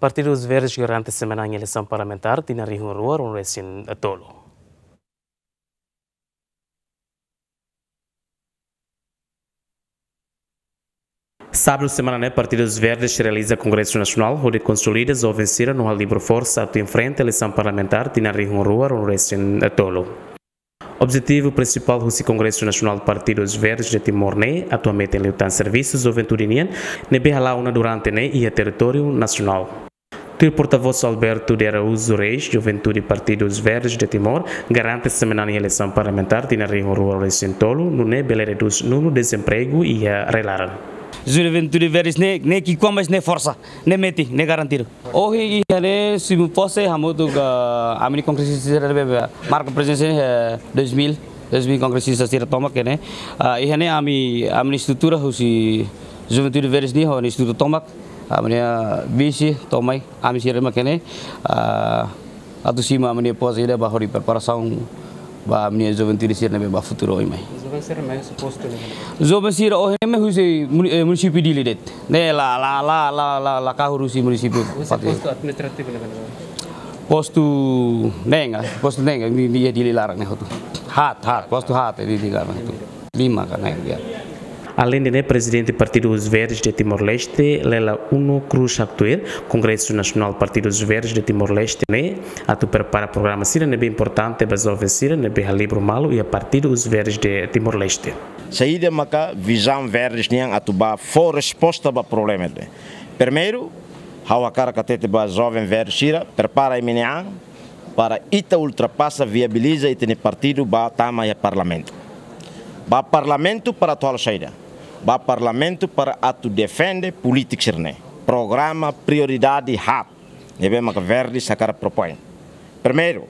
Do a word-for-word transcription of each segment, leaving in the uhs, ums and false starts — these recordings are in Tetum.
Partidu Os Verdes garante semanan iha eleisaun parlamentár tinan rihun rua ruanulu-resin-tolu. Sábadu semana ne'e, Partidu Os Verdes realiza kongresu nasionál hodi konsolida joven sira no halibur forsa atu enfrenta eleisaun parlamentár tinan rihun rua ruanulu-resin-tolu. Objetivu prinsipál husi Kongresu Nasionál Partidu Os Verdes de Timor ne'e atu hametin liután servisu juventude nian ne'ebé hala'o ona durante ne'e iha territóriu nasionál. Tuir portavós Alberto de Araújo Reis, juventude Partidu Os Verdes de Timor garante semanan iha eleisaun parlamentár tinan rihun rua ruanulu-resin-tolu, nune'e bele redús númeru dezempregu iha rai-laran. Juventude Verdes ne'e, ne'e ki'ikoan, mas ne'e forsa, ne'e metin, ne'e garantidu. Ohin iha ne'e simu pose hamutuk ami-nia kongresista sira ne'ebé marka prezensa iha dois mil, dois mil kongresista sira tomak iha ne'e. Ah, iha ne'e ami, ami-nia estrutura husi Juventude Verdes nian ho nia estrutura tomak, ami-nia vise tomak, ami sira mak iha ne'e. Ah, atu simu ami-nia pose ida ba hodi preparasaun ba ami-nia juventude sira ne'ebé ba futuru oin mai. Joven sira mai husi postu ne'ebé? Joven sira ohin mai husi muni-, eh, munisípiu Dili de'it. Ne'e la, la, la kahur husi munisípiu. Husi Pati. Postu administrativu ne'ebé? Postu Nenga, postu Nenga, ne'e, ne'e iha Dili laran ne'e hotu. Haat, haat, postu haat iha Dili laran ne'e hotu. Lima ka na'in, ya. Aleinde ne'e, Prezidente Partidu Os Verdes de Timor-Leste, Lela Uno Cruz haktuir, Kongresu Nasionál Partidu Os Verdes de Timor-Leste ne'e atu prepara programa sira ne'ebé importante ba joven sira ne'ebé halibur malu iha Partidu Os Verdes de Timor-Leste. Saida maka vizaun Verdes nian atu ba fó resposta ba problema ne'e? Primeiru, ha'u hakarak hatete ba joven Verdes sira, prepara imi-nia an, para ita ultrapasa, viabiliza ita-nia partidu ba tama iha parlamentu. Ba parlamentu para atu halo saida? Ba parlamentu para atu defende polítika sira-ne'e. Programa prioridade haat ne'ebé maka Verdes hakarak propoin. Primeiru,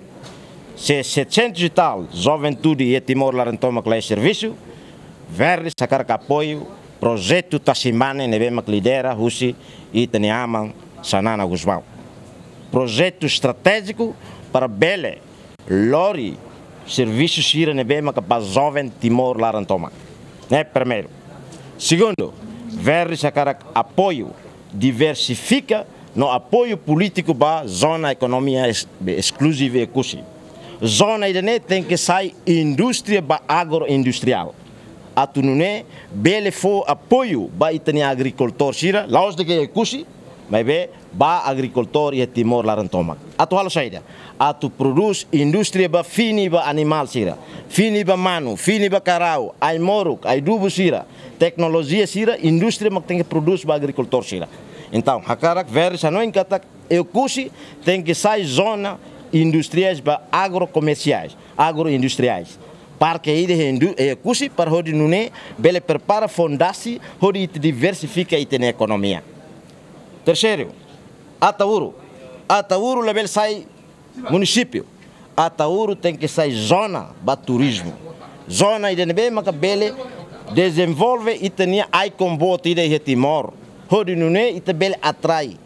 se setecentos e tal juventude iha Timor laran tomak la iha servisu, Verdes hakarak apoiu projetu Tasi Mane ne'ebé mak lidera husi ita-nia aman Xanana Gusmão. Projetu estratéjiku para bele lori servisu sira ne'ebé maka ba joven Timor laran tomak. Ne'e primeiru. Segundu, Verdes hakarak apoiu diversifika no apoiu polítiku ba zona ekonomia es-, eskluziva Oekusi. Zona ida-ne'e tenke sai indústria ba agroindustriál. Atu nune'e bele fó apoiu ba ita-nia agrikultór sira, la'ós de'it Oekusi, maibé ba agrikultór iha Timor laran tomak. Atu halo saida? Atu prodús indústria ba fini ba animál sira, fini ba manu, fini ba karau, ai-moruk, ai-dubu sira, teknolojia sira, indústria mak tenke prodús ba agrikultór sira. Entaun, hakarak Verdes hanoin katak Oekusi tenke sai zona industriais ba agrokomersiais, agroindustriais. Parke ida iha indu-, iha Oekusi para hodi nune'e bele prepara fondasi hodi ita diversifika ita-nia ekonomia. Terseiru, Ataúru. Ataúru labele sai munisípiu. Ataúru tenke sai zona ba turizmu. Zona ida ne'ebé maka bele dezenvolve ita-nia ai-komboot ida iha Timor. Hodi nune'e ita bele atrai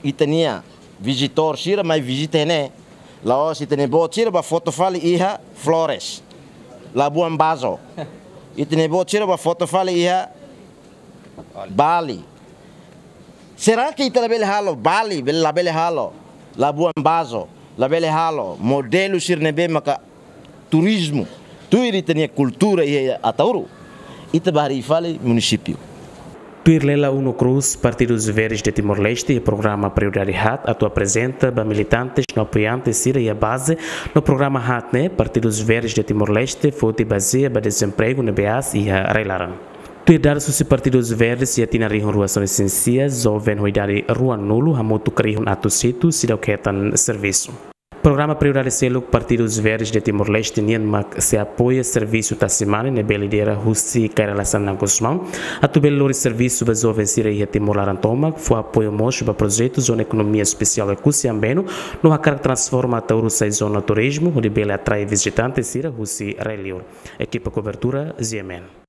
ita-nia vizitór sira mai vizita iha ne'e. La'ós ita-nia boot sira ba foto fali iha Flores, Labuan Bajo. Ita-nia boot sira ba foto fali iha Bali. Será que ita labele halo Bali, bele, labele halo Labuan Bajo, labele halo modelu sira ne'ebé maka turizmu tuir ita-nia kultura iha Ataúru? Ita ba harii fali munisípiu. Tuir Lela Uno Cruz, Partidu Os Verdes de Timor-Leste iha programa prioridade haat atu aprezenta ba militantes no apoiantes sira iha baze, no programa haat ne'e Partidu Os Verdes de Timor-Leste foti bazeia ba dezempregu ne'ebé aas iha rai-laran. Tuir dadus husi Partidu Os Verdes, iha tinan rihun rua sanulu-resin-sia, joven ho idade ruanulu hamutuk rihun atus hitu seidauk hetan servisu. Programa prioridade seluk Partidu Os Verdes de Timor-Leste nian mak sei apoia servisu Tasi Mane ne'ebé lidera husi Kay Rala Xanana Gusmão, atu bele lori servisu ba joven sira iha Timor laran tomak, fó apoiu mós ba projetu zona ekonomia espesiál Oekusi Ambeno, no hakarak transforma Ataúru sai zona turizmu, hodi bele atrai vizitante sira husi rai-liur. Ekipa kobertura, G M N.